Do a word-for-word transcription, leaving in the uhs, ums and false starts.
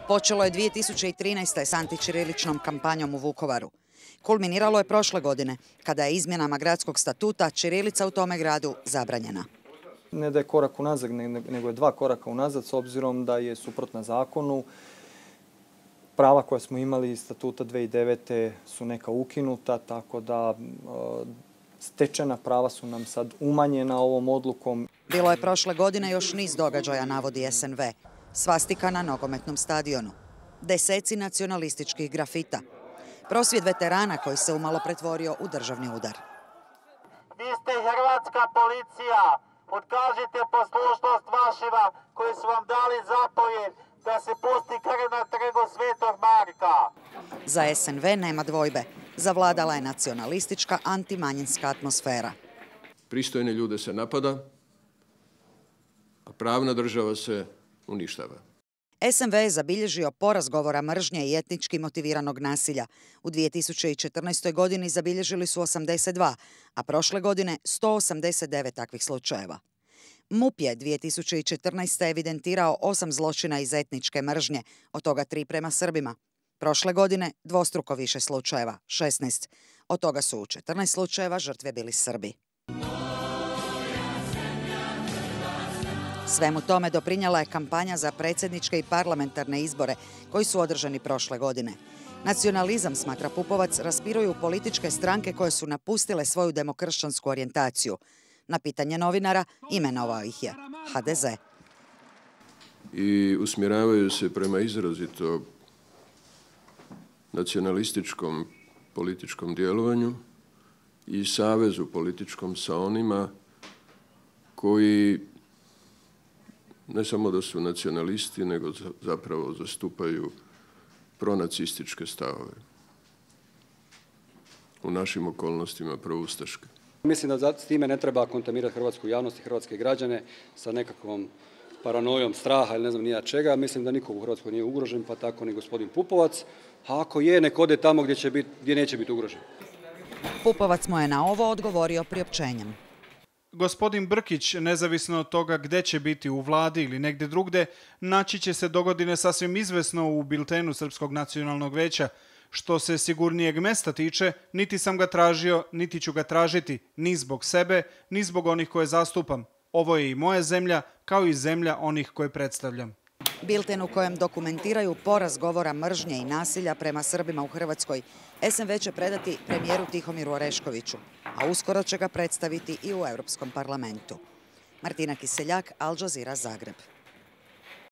Počelo je dvije tisuće trinaeste. s antićiriličnom kampanjom u Vukovaru. Kulminiralo je prošle godine, kada je izmjenama gradskog statuta ćirilica u tome gradu zabranjena. Ne da je korak unazad, nego je dva koraka unazad, s obzirom da je suprotna zakonu. Prava koja smo imali iz statuta dve hiljade devete. su neka ukinuta, tako da stečena prava su nam sad umanjena ovom odlukom. Bilo je prošle godine još niz događaja, navodi S N V. Svastika na nogometnom stadionu. Deseci nacionalističkih grafita. Prosvjed veterana koji se umalo pretvorio u državni udar. Vi ste hrvatska policija. Otkažite poslušnost vašima koji su vam dali zapovjed da se pusti krv na trgu Svetog Marka. Za S N V nema dvojbe. Zavladala je nacionalistička antimanjinska atmosfera. Pristojne ljude se napada, a pravna država se uništava. S N V je zabilježio porast govora mržnje i etnički motiviranog nasilja. U dvije tisuće četrnaestoj. godini zabilježili su osamdeset dva, a prošle godine sto osamdeset devet takvih slučajeva. M U P je dvije tisuće četrnaeste. evidentirao osam zločina iz etničke mržnje, od toga tri prema Srbima. Prošle godine dvostruko više slučajeva, šesnaest. Od toga su u četrnaest slučajeva žrtve bili Srbi. Svemu tome doprinijela je kampanja za predsjedničke i parlamentarne izbore koji su održani prošle godine. Nacionalizam, smatra Pupovac, raspiruju političke stranke koje su napustile svoju demokršćansku orijentaciju. Na pitanje novinara imenovao ih je H D Z. I usmjeravaju se prema izrazito nacionalističkom političkom djelovanju i savezu političkom sa onima koji ne samo da su nacionalisti, nego zapravo zastupaju pronacističke stavove. U našim okolnostima proustaške. Mislim da s time ne treba kontaminirati hrvatsku javnost i hrvatske građane sa nekakvom paranojom straha ili ne znam nija čega. Mislim da niko u Hrvatskoj nije ugrožen, pa tako ni gospodin Pupovac. A ako je, nek ode tamo gdje, će biti, gdje neće biti ugrožen. Pupovac mu je na ovo odgovorio priopćenjem. Gospodin Brkić, nezavisno od toga gdje će biti u vladi ili negdje drugde, naći će se dogodine sasvim izvesno u biltenu Srpskog nacionalnog veća. Što se sigurnijeg mesta tiče, niti sam ga tražio, niti ću ga tražiti, ni zbog sebe, ni zbog onih koje zastupam. Ovo je i moja zemlja, kao i zemlja onih koje predstavljam. Bilten u kojem dokumentiraju porast govora mržnje i nasilja prema Srbima u Hrvatskoj, S N V će predati premijeru Tihomiru Oreškoviću, a uskoro će ga predstaviti i u Europskom parlamentu. Martina Kiseljak, Al Jazeera, Zagreb.